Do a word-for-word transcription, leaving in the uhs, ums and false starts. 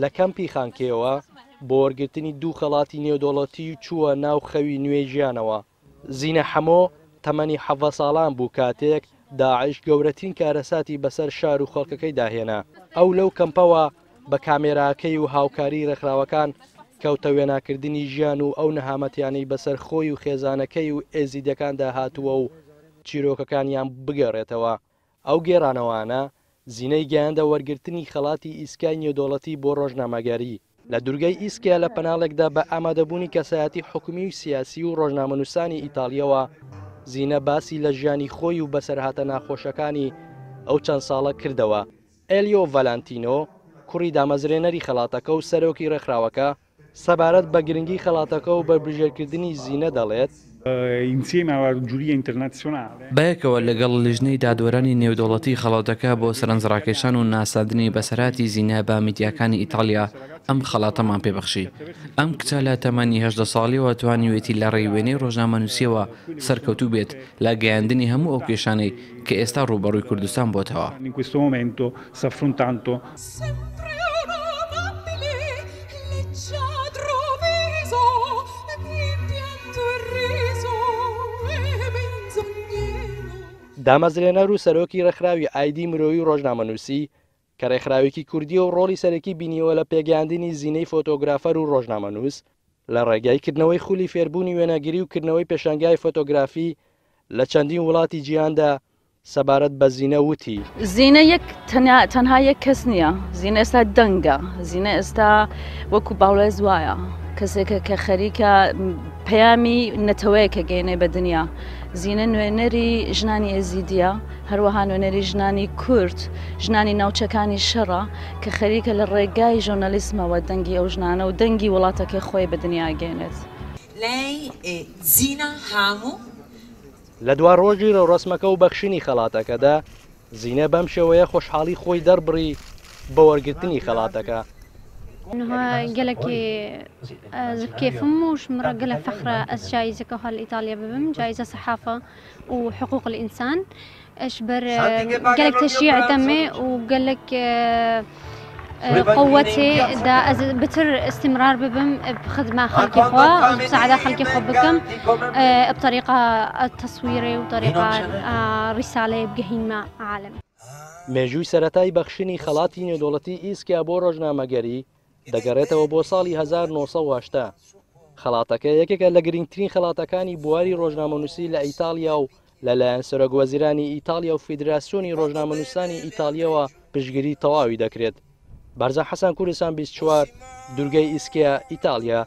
لە کەمپی خانکێوە بۆ وەرگرتنی دوو خەڵاتی نێودەوڵەتی چووە ناو خەوی نوێی ژیانەوە. زینە حەمۆ تەمەنی حەڤدە ساڵان بوو کاتێک داعش گەورەترین کارەساتی بەسەر شار و خەڵکەکەی داهێنا. ئەو لەو کەمپەوە بە کامێراکەی و هاوکاری ڕێکخراوەکان کەوتە وێناکردنی ژیان و ئەو نەهامەتیانەی بەسەر خۆی و خێزانەکەی و ئێزیدەکاندا هاتووە و چیرۆکەکانیان بگەڕێتەوە. ئەو گێڕانەوانە زینەی گەیاندە وەرگرتنی خەڵاتی ئیسکای نێودەوڵەتی بۆ ڕۆژنامەگەری. لە دوورگەی ئیسکیا لە پەناڵێکدا بە ئامادەبوونی کەسایەتی حکومی و سیاسی و ڕۆژنامەنووسانی ئیتالیەوە زینە باسی لە ژیانی خۆی و بەسەرهاتە ناخۆشەکانی ئەو چەند ساڵە کردەوە. ئێلیۆ ڤالانتینۆ کوڕی دامەزرێنەری خەڵاتەکە و سەرۆکی ڕێکخراوەکە سەبارەت بە گرنگی خەڵاتەکە و بەربژێرکردنی زینە دەڵێت: بەیەکەوە لەگەڵ لیژنەی دادوەرانی نێودەوڵەتی خەڵاتەکە بۆ سەرنجڕاکێشان و ناساندنی بەسەرهاتی زینە بە میدیاکانی ئیتالیا ئەم خەڵاتەمان پێبەخشی. ئەم کچە لە تەمەنی هەژدە ساڵیەوە توانیوێتی لە ڕێی وێنەی ڕۆژنامەنووسیەوە سەرکەوتوو بێت لە گەیاندنی هەموو ئەو کێشانەی کە ئێستا ڕووبەڕووی کوردستان بۆتەوە. دامەزرێنەر و سەرۆکی ڕێکخراوی ئایدی مرۆیی و ڕۆژنامەنووسی کە ڕێکخراوێکی کوردیە و ڕۆڵی سەرەکی بینیەوە لە پێگەیاندنی زینەی فۆتۆگرافەر و ڕۆژنامەنووس لە ڕێگای کردنەوەی خولی فێربوونی وێنەگیری و کردنەوەی پێشانگای فۆتۆگرافی لە چەندین وڵاتی جیهاندا سەبارەت بە زینە وتی: زینە یەک تەنها یەک کەس نییە، زینە ئێستا دەنگە، زینە ئێستا وەکو باڵوێز وایە، کەسێکە کە خەریکە پەیامی نەتەوەیەکە گەینێ بە دنیا. زینە نوێنەری ژنانی ئێزیدیە، هەروەها نوێنەری ژنانی کورد، ژنانی ناوچەکانی شەڕە کە خەریکە لە ڕێگای ژۆرنالیسمەوە دەنگی ئەو ژنانە و دەنگی وڵاتەکەی خۆی بە دنیا گەینێت. لە دوا ڕۆژی ڕێوڕەسمەکە و بەخشینی خەڵاتەکەدا زینە بەم شێوەیە خۆشحاڵی خۆی دەربڕی بە وەرگرتنی خەڵاتەکە. قالك كيف موش مرة قال فخرة أس جايزة كهال إيطاليا ببم جايزة صحافة وحقوق الإنسان أشبر قالك تشجيع دمي وقالك قوتي دا بتر استمرار ببم بخدمة خلقي خوا ومساعدة خلقي خوا بكم بطريقة التصويري وطريقة رسالة بقهين مع عالم. مێژووی سەرەتای بەخشینی خەڵاتی نێودەوڵەتی ئیسکیا بۆ ڕۆژنامەگەری دەگەڕێتەوە بۆ ساڵی هەزار و نۆ سەد و هەشتا. خەڵاتەکە یەکێکە لە گرنگترین خەڵاتەکانی بواری ڕۆژنامەنووسی لە ئیتالیا و لەلایەن سەرۆک وەزیرانی ئیتالیا و فیدراسیۆنی ڕۆژنامەنووسانی ئیتالیەوە پشتگیری تەواوی دەکرێت. بارزان حەسەن، کوردستان بیست و چوار، دوورگەی ئیسکیا، ئیتالیا.